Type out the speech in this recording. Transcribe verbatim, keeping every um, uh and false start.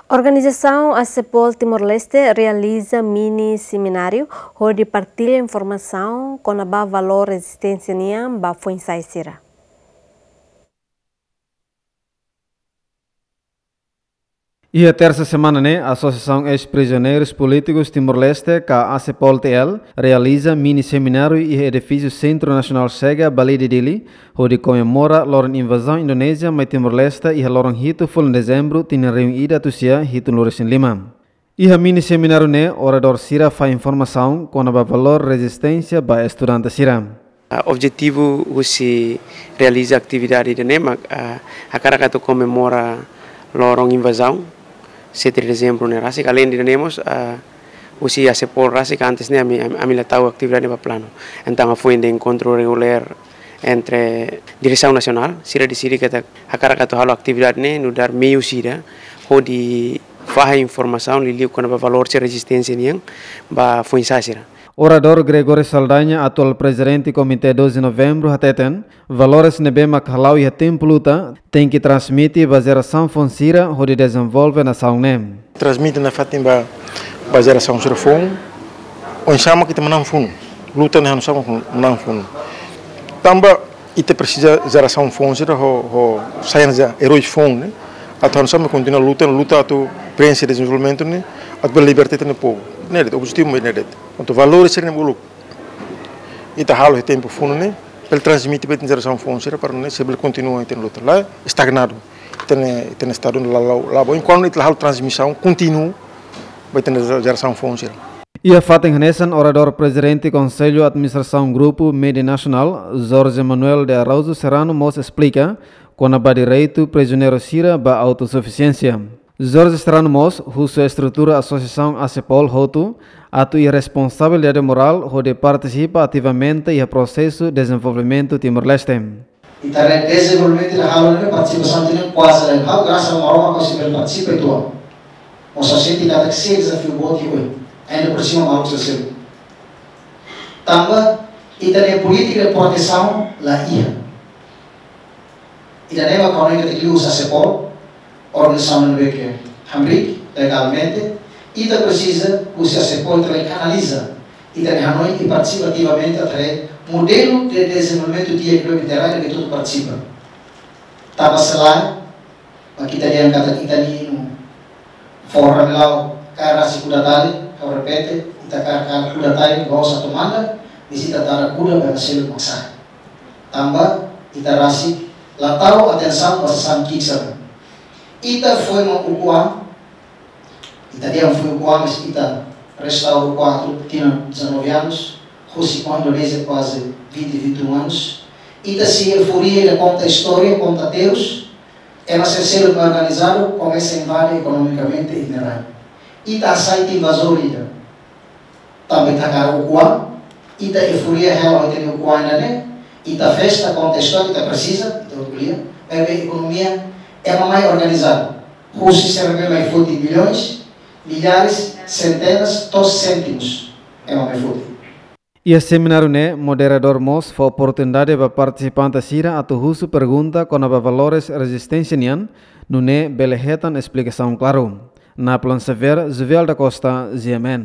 Organizasaun ACEPOL Timor-Leste realiza mini semináriu hodi partilla informasaun kona-ba valór rezisténsia nian ba foin-sa'e sira. Iha tersa semana ne'e, Asosiasaun Eis-Prizioneirus Polítikus Timor-Leste, ka ACEPOL T L, realiza mini semináriu iha edifísiu Sentru Nasionál Chega, Balide, Dili, hodi komemora loron invazaun Indonézia mai Timor-Leste iha loron hitu fulan Dezembru tinan rihun ida atus sia hitunulu resin lima. Iha mini semináriu ne'e, oradór sira fahe informasaun kona-ba valór rezisténsia ba estudante sira. Ah, objetivu husi realiza atividade ida-ne'e mak, ah, hakarak atu komemora loron invazaun sete de Dezembru ne'e rasik. Além de ne'e mós, ah, husi ACEPOL rasik antes ne'e ami, ami, ami la tau atividade ne'e ba planu. Entaun hafoin de enkontru regulár entre diresaun nasionál, sira deside katak hakarak atu halo atividade ne'e nu'udar meius ida hodi fahe informasaun liuliu kona-ba valór sira rezisténsia nian ba foin-sa'e sira. Oradór Gregório Saldanha, atuál prezidente Komité doze Novembru, hateten, valores ne'ebé mak hala'o iha tempu luta, tenke transmite ba jerasaun foun sira hodi dezenvolve nasaun ne'e. Transmite nafatin ba, ba jerasaun sira foun, oinsá mak ita manán funu, luta ne'e oinsá mak manán funu. Tanba ita presiza jerasaun foun sira ho, ho sai hanesan eróis foun ne'e, atu oinsá mak kontinua luta, luta atu prenxe dezenvolvimentu ne'e, atu bele liberta ita-nia povu. Ne'e de'it, objetivu mak ne'e de'it. Entaun valores sira ne'e uluk ita halo iha tempu funu ne'e, bele transmite ba ita-nia jerasaun foun sira para ne'e sei bele kontinua ita-nia luta. La estagnadu. Ita-nia, ita-nia estadu la, la, la bá. Enkuantu ita la halo transmisaun kontínua ba ita-nia jerasaun foun sira. Iha fatin hanesan, oradór prezidente Konsellu Administrasaun Grupu Mede Nasionál, Jorge Manuel de Araújo Serrano, mós esplika kona-ba direitu prizioneiru sira ba autosufisiénsia. Jorge Serrano mós husu estrutura Asosiasaun ACEPOL hotu atu iha responsabilidade morál hodi partisipa ativamente iha prosesu dezenvolvimentu Timor-Leste. Ita-nia dezenvolvimentu ita halo ne'e partisipasaun ita-nia kuaze la iha, grasas Maromak ha'u sei bele partisipa uitoan. Mós ha'u sente katak sei dezafiu boot ohin. Ainda por cima maluk sira seluk. Tanba ita-nia polítika de protesaun la iha. Ida-ne'e mak ha'u hanoin katak liuhusi ACEPOL, organizasaun ne'ebé ke hamriik legalmente, ita presiza husi ACEPOL ita bele kanaliza ita-nia hanoin i partisipa ativamente atu haree modelu de dezenvolvimentu di'ak ne'ebé ita rai ne'ebé ita hotu partisipa. Tanba se lae, mak ita dehan katak ita-nia inu fó rame la'o kaer rasik kuda tali, ha'u repete, ita kaer, kaer kuda tali, la'ós atu manda, mas ita tara kuda ba ema seluk mak sa'e. Tanba ita rasik la tau atensaun ba sasán ki'ik sira. Ita foin mak ukun an, ita dehan foin ukun an, mas ita restaura ukun an tinan dezanove anos, husi kuandu Indonézia kuaze vinte, vinte e um anos. Ita sei euforia de konta istória, konta aterrus, ema sira seluk organizadu komesa invade ekonomikamente ita-nia rai. Ita hasai ita invazór ida. Tanba ita hakarak ukun an, ita euforia hela ho ita-nia ukun an ida-ne'e, ita festa, konta istória, ita presiza, ita hotu ko'alia, maibé ekonomia ema mai organizadu. Husi sira ne'ebé mai foti milhões, milhares, centenas, to'o cêntimos ema mai foti. Iha semináriu ne'e, moderadór mós fó oportunidade ba partisipante sira atu husu pergunta kona-ba valores rezisténsia nian, nune'e bele hetan esplikasaun klaru. Naplan Xavier, Juvel da Costa, G M N.